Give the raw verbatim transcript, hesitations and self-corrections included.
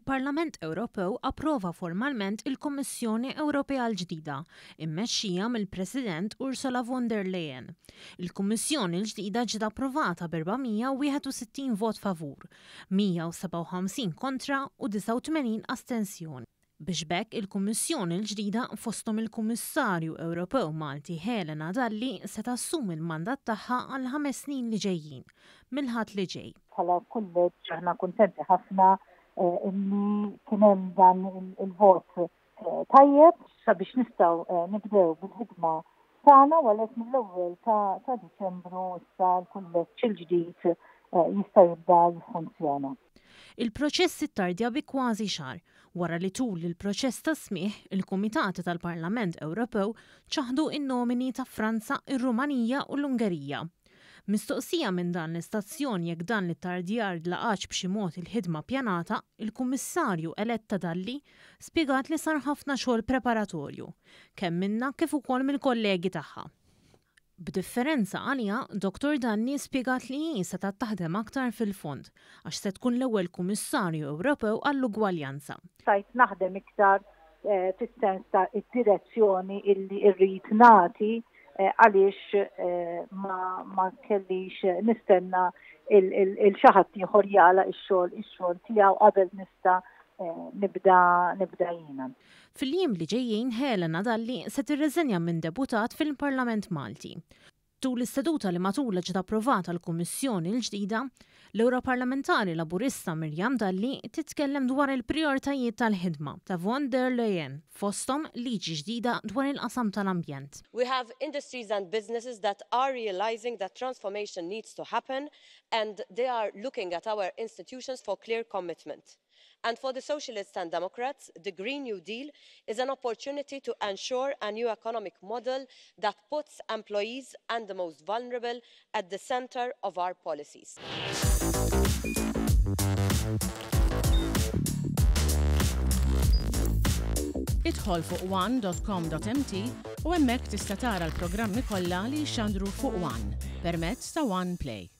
Il-Parlament Ewropew approva formalment il-Kummissjoni Ewropea l-ġdida, immexxija mill-President Ursula von der Leyen. Il-Kummissjoni l-ġdida ġiet approvata b'erba' mija u wieħed u sittin vot favur, mija u sebgħa u ħamsin kontra u disgħa u tmenin astensjoni. Biex b'hekk il-Kummissjoni l-ġdida, fosthom il-Kummissarju Ewropew Malti Helena Dalli, se tassumi l-mandat tagħha għal ħames snin li ġejjin, mill-Ħadd li ġej. Bħala kulleġġ aħna kuntenti ħafna eh, illi kien hemm dan il-vot eh, tajjeb sabiex nistgħu eh, nibdew bil-ħidma tagħna, u għalhekk mill-ewwel ta' Diċembru issa l-kulleġġ il-ġdid jista' jibda jiffunzjona. Il-proċess ittardja bi kważi xahar wara li tul il-proċess ta' smigħ il-Kumitati tal-Parlament Ewropew ċaħdu in-nomini ta' Franza, ir-Rumanija u l-Ungerija. Mistoqsija minn dan l-istazzjon jekk dan l-ittardjar laqatx b'xi mod il-ħidma pjanata, il-Kummissarju eletta Dalli spjegat li sar ħafna xogħol preparatorju, kemm minna kif ukoll mill-kollegi tagħha. B'differenza għalija, Dottor Dalli spjegat li hi se taħdem aktar fil-fond għax se tkun l-ewwel Kummissarju Ewropew għall-ugwaljanza. Stajt naħdem iktar eh, fis-sens ta' id-direzzjoni illi rrid nagħti eh, għaliex eh, ma, ma kellix nistenna lil xi ħadd ieħor jagħlaq ix-xogħol ix-xogħol tiegħu qabel nista' nibda nibda jiena. Fil-jiem li ġejjin Helena Dalli se tirreżenja minn deputat fil-Parlament Malti. Tul is-seduta li matulha ġiet approvata l-Kummissjoni l-ġdida, l-Europarlamentari Laburista Miriam Dalli titkellem dwar il-prioritajiet tal-ħidma ta' von der Leyen, fosthom liġi ġdida dwar il-qasam tal-ambjent. We have industries and businesses that are realizing that transformation needs to happen, and they are looking at our institutions for clear commitment. And for the Socialists and Democrats, the Green New Deal is an opportunity to ensure a new economic model that puts employees and the most vulnerable at the centre of our policies. Idħol fuq one dot com dot M T u hemmhekk tista' tara l-programmi kollha li jxandru fuq One permezz ta' One Play.